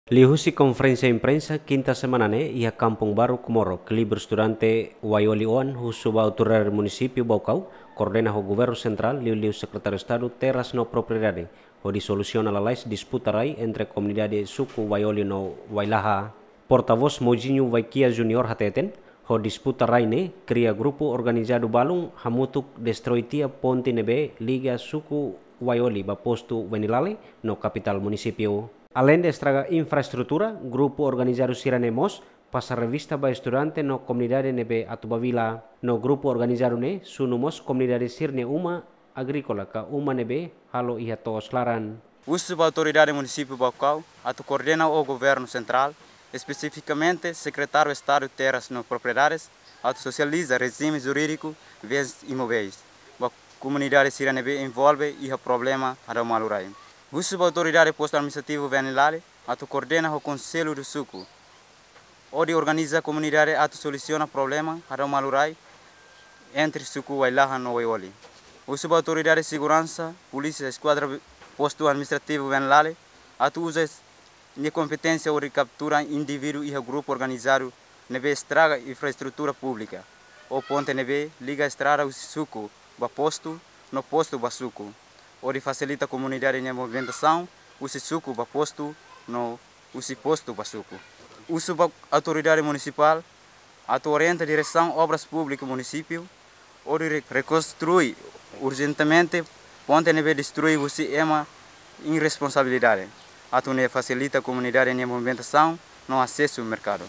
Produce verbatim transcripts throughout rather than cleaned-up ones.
Liuhusi konferénsia imprensa kinta semana ne'e iha Kampung Baru Komoro, klibur estudante Waioli oan husu ba autoridade munisípiu Baucau, koordena ho governu sentrál, liuliu Sekretáriu Estadu Terras no Propriedade, hodi solusiona lalais disputa rai entre komunidade suku Waioli no Wailaha. Portavós Mojinho Waikia Junior hateten, ho disputa rai ne'e kria grupu organizadu balun hamutuk destroi tiha ponte ne'ebé liga suku Waioli ba postu Venilale no kapitál munisípiu. Aleinde estraga infraestrutura, grupu organizadu sira-ne'e mós pasa revista ba estudante no komunidade ne'ebé atu ba vila. No grupu organizadu ne'e sunu mós komunidade sira-nia uma agríkola ka uma ne'ebé halo iha to'os laran. Husu ba autoridade munisípiu Baucau atu koordena ho governu sentrál, espesifikamente Sekretáriu Estadu Terras no Propriedades, atu sosializa rejime jurídiku bens imoveis ba komunidade sira ne'ebé envolve iha problema hadau malu rai. Husu ba autoridade postu administrativu Venilale atu koordena ho konsellu do suku, hodi organiza komunidade atu solusiona problema hadau malu rai entre suku Wailaha no Waioli. Husu ba autoridade seguransa, polísia eskuadra postu administrativu Venilale atu uza nia kompeténsia hodi kaptura indivíduu iha grupu organizadu ne'ebé estraga infraestrutura públika, ou ponte ne'ebé liga estrada husi suku ba postu, no postu ba suku, hodi fasilita komunidade nia movimentasaun husi suku ba postu, no husi postu ba suku. Husu ba autoridade munisipál atu orienta Diresaun Obras Públikas munisípiu hodi re-, rekonstrui urjentemente ponte ne'ebé destrui husi ema irresponsabilidade, atu nune'e fasilita komunidade nia movimentasaun no asesu merkadu.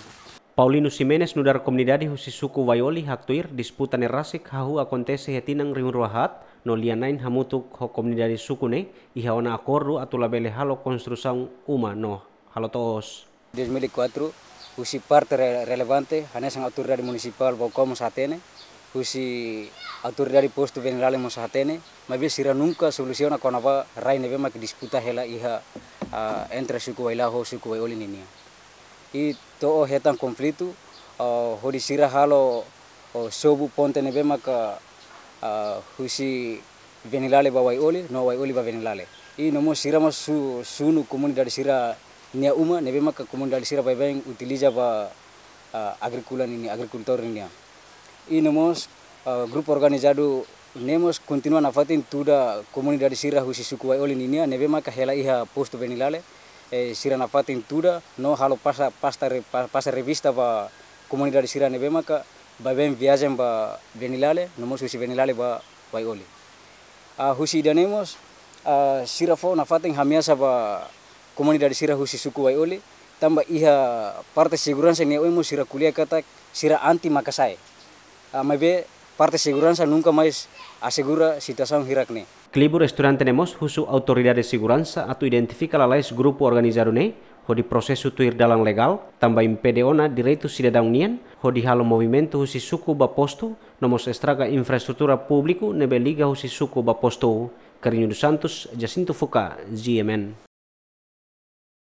Paulino Ximenes nu'udar komunidade husi suku Waioli haktuir disputa ne'e rasik hahú akontese iha tinan rihun rua haat, no lia-na'in hamutuk ho komunidade suku ne'e iha ona akordu atu labele halo konstrusaun uma no halo to'os. Dois mil e quatro, husi parte re-, relevante, hanesan autoridade munisipál Baucau mós hatene, husi autoridade postu Venilale mós hatene, maibé sira nunka solusiona kona-ba rai ne'ebé mak disputa hela iha, ah, entre suku Wailaha ho suku Waioli ninia. I to'o hetan konflitu, ah, hodi sira halo, oh, sobu ponte ne'ebé maka, ah, husi Venilale ba Waioli, no Waioli ba Venilale. I no mós sira mós su-, sunu komunidade sira-nia uma, ne'ebé maka komunidade sira baibain utiliza ba, ah, agríkola ninia, agrikultór ninia. I no mós, ah, grupu organizadu ne'e mós kontinua nafatin tuda komunidade sira husi suku Waioli ninia, ne'ebé maka hela iha postu Venilale, eh, sira nafatin tuda, no halo pasa, pasta re-, pa-, pasa revista ba komunidade sira ne'ebé maka baibain viajen ba Venilale, no mós husi Venilale ba Waioli. Ah, husi ida-ne'e mós, ah, sira fó nafatin ameasa ba komunidade sira husi suku Waioli, tanba iha parte seguransa nia oin mós sira ko'alia katak sira anti maka sa'e. Ah, maibé parte seguransa nunka mais asegura situasaun hirak ne'e. Klibur estudante ne'e mós husu autoridade seguransa atu identifika lalais grupu organizadu ne'e, hodi prosesu tuir dalan legál, tanba impede ona direitu sidadaun nian, hodi halo movimentu husi suku ba postu, no mós estraga infraestrutura públiku ne'ebé liga husi suku ba postu. Carrinho dos Santos, Jacinto Fuca, G M N.